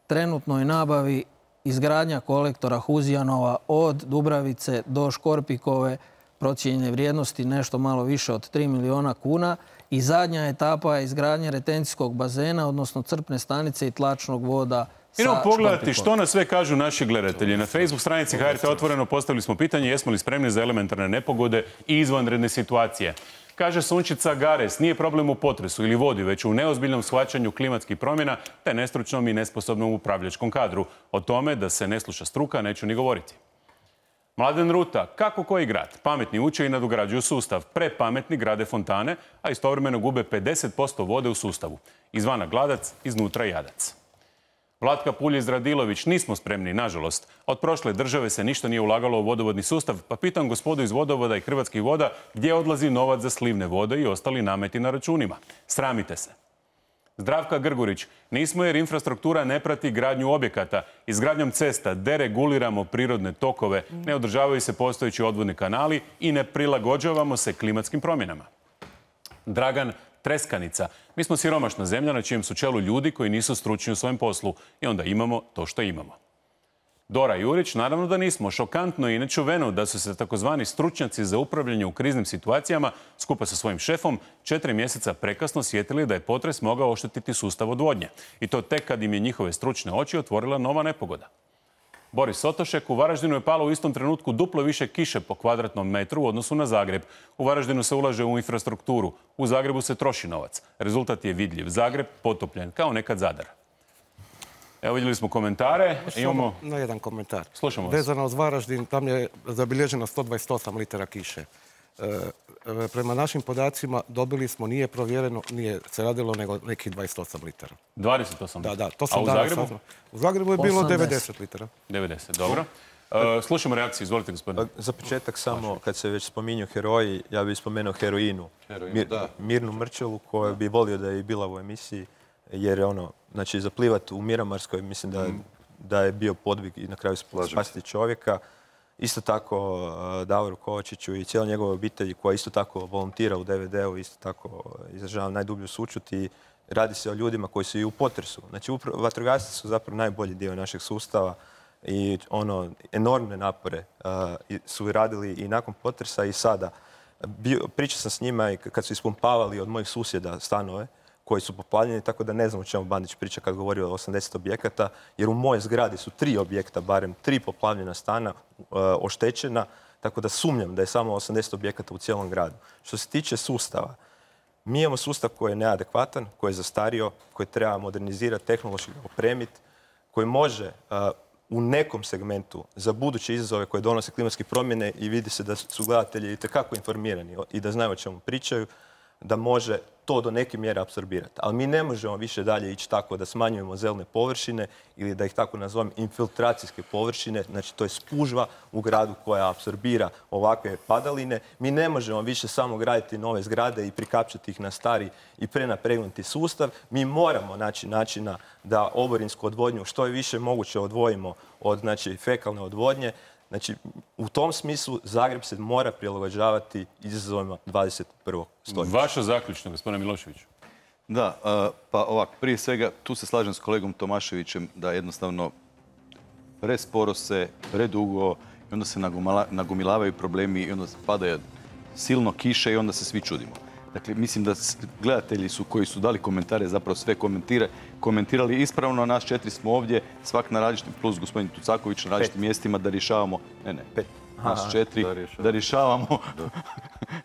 Trenutno je nabavi izgradnja kolektora Huzijanova od Dubravice do Škorpikove procijenjene vrijednosti nešto malo više od tri miliona kuna i zadnja etapa je izgradnja retencijskog bazena, odnosno crpne stanice i tlačnog voda. Idemo pogledati što nas sve kažu naši gledatelji. Na Facebook stranici H R T Otvoreno postavili smo pitanje jesmo li spremni za elementarne nepogode i izvanredne situacije. Kaže Sunčica Gares, nije problem u potresu ili vodi, već u neozbiljnom shvaćanju klimatskih promjena te nestručnom i nesposobnom upravljačkom kadru. O tome da se ne sluša struka neću ni govoriti. Mladen Ruta, kako koji grad? Pametni uče i nadograđuju sustav. Prepametni grade fontane, a istovremeno gube pedeset posto vode u sustavu. Izvana gladac, iznutra jadac. Vlatka Puljiz-Radilović, nismo spremni, nažalost. Od prošle države se ništa nije ulagalo u vodovodni sustav, pa pitam gospodu iz Vodovoda i Hrvatskih voda gdje odlazi novac za slivne vode i ostali nameti na računima. Sramite se. Zdravka Grgurić, nismo jer infrastruktura ne prati gradnju objekata. Izgradnjom cesta dereguliramo prirodne tokove, ne održavaju se postojeći odvodni kanali i ne prilagođavamo se klimatskim promjenama. Dragan Treskanica, mi smo siromašna zemlja na čijem su čelu ljudi koji nisu stručni u svojem poslu i onda imamo to što imamo. Dora Jurić, naravno da nismo. Šokantno i nečuveno da su se takozvani stručnjaci za upravljanje u kriznim situacijama skupa sa svojim šefom četiri mjeseca prekasno sjetili da je potres mogao oštetiti sustav odvodnje. I to tek kad im je njihove stručne oči otvorila nova nepogoda. Boris Sotošek, u Varaždinu je palo u istom trenutku duplo više kiše po kvadratnom metru u odnosu na Zagreb. U Varaždinu se ulaže u infrastrukturu. U Zagrebu se troši novac. Rezultat je vidljiv. Zagreb potopljen, kao nekad Zadar. Evo vidjeli smo komentare. Imamo... Na jedan komentar. Slušamo vas. Vezano uz Varaždin, tam je zabilježeno sto dvadeset osam litara kiše. E, prema našim podacima dobili smo, nije provjereno, nije se radilo nego nekih dvadeset osam litara. dvadeset osam Da, litara? da. To sam A u danas Zagrebu? saznao. U Zagrebu je bilo devedeset litara. devedeset, dobro. E, slušamo reakciju, izvolite gospodine. Za početak samo, kad se već spominju heroji, ja bih spomenuo heroinu. Heroinu, da. Mirnu Mrčelu, koja bi volio da je bila u emisiji, jer je ono, znači zaplivati u Miramarskoj, mislim da, da je bio podvig i na kraju spasiti čovjeka. Isto tako uh, Davoru Kovačiću i cijela njegova obitelji koja isto tako volontira u D V D-u, isto tako izražavam najdublju sućut i radi se o ljudima koji su i u potresu. Znači vatrogasci su zapravo najbolji dio našeg sustava i ono, enormne napore uh, su radili i nakon potresa i sada. Bio, pričao sam s njima i kad su ispumpavali od mojih susjeda stanove koji su poplavljeni, tako da ne znam o čemu Bandić priča kad govori o osamdeset objekata, jer u mojoj zgradi su tri objekta, barem tri poplavljena stana uh, oštećena, tako da sumnjam da je samo osamdeset objekata u cijelom gradu. Što se tiče sustava, mi imamo sustav koji je neadekvatan, koji je zastario, koji treba modernizirati, tehnološki opremiti, koji može uh, u nekom segmentu za buduće izazove koje donose klimatske promjene i vidi se da su gledatelji itekako informirani i da znaju o čemu pričaju, da može to do neke mjere apsorbirati. Ali mi ne možemo više dalje ići tako da smanjujemo zelene površine ili da ih tako nazovem infiltracijske površine, znači to je spužva u gradu koja apsorbira ovakve padaline. Mi ne možemo više samo graditi nove zgrade i prikapčati ih na stari i prenapregnuti sustav. Mi moramo naći načina da oborinsku odvodnju što je više moguće odvojimo od znači, fekalne odvodnje. Znači, u tom smislu Zagreb se mora prilagođavati izazovima dvadeset prvog stoljeća. Vaša zaključna, gospodine Miloševiću. Da, pa ovako, prije svega, tu se slažem s kolegom Tomaševićem da jednostavno presporo se, predugo i onda se nagomilavaju problemi i onda padaju silno kiše i onda se svi čudimo. Dakle, mislim da gledatelji su koji su dali komentare, zapravo sve komentire, komentirali ispravno. Nas četiri smo ovdje, svak na različitim, plus gospodin Tucaković na različitim mjestima da rješavamo, ne, ne, Pet. nas četiri, da rješavamo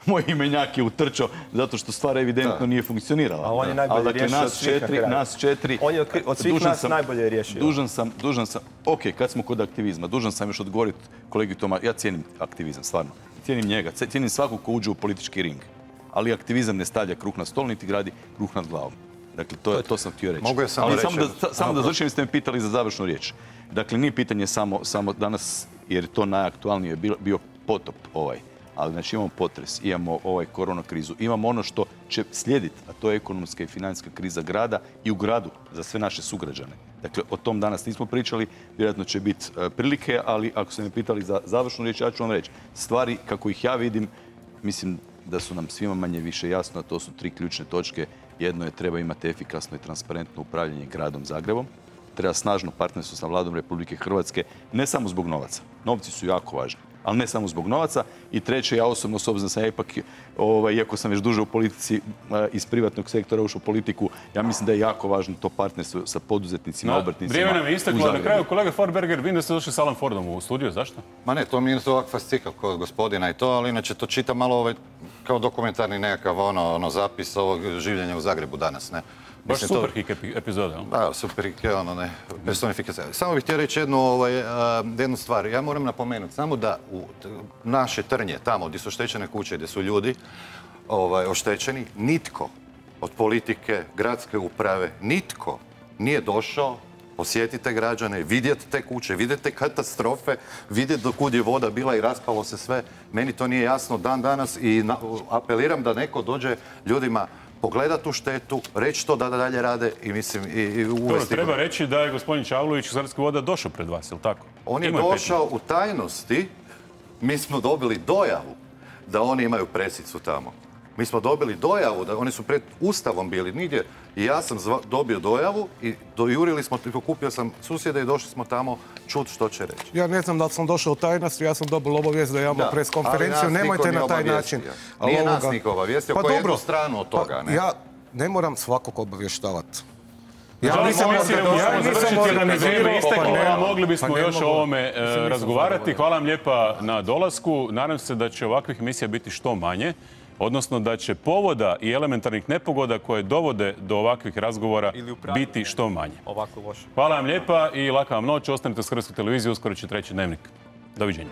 moj imenjak je utrčao zato što stvar evidentno nije funkcionirala. A on je najbolje dakle, riješio nas od svih na četiri, kraju. nas četiri... On je od, od svih dužan nas sam- najbolje riješio. Dužan sam, dužan sam, ok, kad smo kod aktivizma, dužan sam još odgovoriti kolegi Toma, ja cijenim aktivizam, stvarno. Cijenim njega, cijenim svakog ko uđe u politički ring. Ali aktivizam ne stavlja kruh na stol, niti gradi kruh nad glavom. Dakle, to, je, to sam htio reći. Mogu ja samo Ali reći samo da, jedno? samo da Aha, završim, ste me pitali za završnu riječ. Dakle, nije pitanje samo, samo danas, jer je to najaktualnije bio, bio potop ovaj. Ali znači imamo potres, imamo ovaj korona krizu, imamo ono što će slijediti, a to je ekonomska i financijska kriza grada i u gradu za sve naše sugrađane. Dakle, o tom danas nismo pričali, vjerojatno će biti e, prilike, ali ako ste me pitali za završnu riječ, ja ću vam reći. Stvari kako ih ja vidim, mislim da su nam svima manje više jasno, a to su tri ključne točke. Jedno je treba imati efikasno i transparentno upravljanje gradom Zagrebom. Treba snažno partnerstvo sa vladom Republike Hrvatske, ne samo zbog novaca. Novci su jako važni, ali ne samo zbog novaca. I treće, ja osobno, s obzirom da sam ipak, ovaj, iako sam već duže u politici, iz privatnog sektora ušao u politiku, ja mislim da je jako važno to partnerstvo sa poduzetnicima, obrtnicima. Vrijeme nam je u isteklo. Na Zagrebu. kraju, kolega Forberger, vidim da ste došli s Alan Fordom u studiju. Zašto? Ma ne, to mi je to ovak fascikl kod gospodina i to, ali inače to čita malo ovaj, kao dokumentarni nekakav ono, ono zapis ovog življenja u Zagrebu danas, ne? Baš Mislim, to- super hik epi- epizoda. jel? Da, super hik, ono ne, personifikacija. Samo bih htio reći jednu, ovaj, a, jednu stvar. Ja moram napomenuti samo da u t- naše Trnje, tamo gdje su oštećene kuće, gdje su ljudi ovaj, oštećeni, nitko od politike, gradske uprave, nitko nije došao posjetiti te građane, vidjeti te kuće, vidjeti te katastrofe, vidjeti do kud je voda bila i raspalo se sve. Meni to nije jasno dan danas i na- apeliram da neko dođe ljudima pogledat tu štetu, reći to da dalje rade i mislim i, i Dobro, uvesti... treba reći da je gospodin Čavlović iz Hrvatskih voda došao pred vas, je li tako? On je Imao pet došao u tajnosti, mi smo dobili dojavu da oni imaju presicu tamo. Mi smo dobili dojavu da oni su pred Ustavom bili nigdje i ja sam zva- dobio dojavu i dojurili smo, pokupio sam susjede i došli smo tamo čut što će reći. Ja ne znam da li sam došao u tajnost, ja sam dobio obavijest da imamo Da, pres ali konferenciju, nas nemojte niko na taj nije način. obavijestio. Ali Nije nas ovoga- niko obavijestio, Pa ko je jednu dobro. stranu od toga, Pa ne? ja ne moram svakog obavještavati. Ja nisam moram mislio da- da ja možemo nisam završiti jer nam je organizirao, vrijeme isteklo, pa ne, a mogli bismo pa ne još o mogu. ovome e, Mislim, nisam razgovarati. zadovoljan. Hvala vam lijepa na dolasku. Nadam se da će ovakvih emisija biti što manje, odnosno da će povoda i elementarnih nepogoda koje dovode do ovakvih razgovora biti što manje. Ovako loše. Hvala vam lijepa i laka vam noć. Ostanite s Hrvatske televizije, uskoro će treći dnevnik. Doviđenja.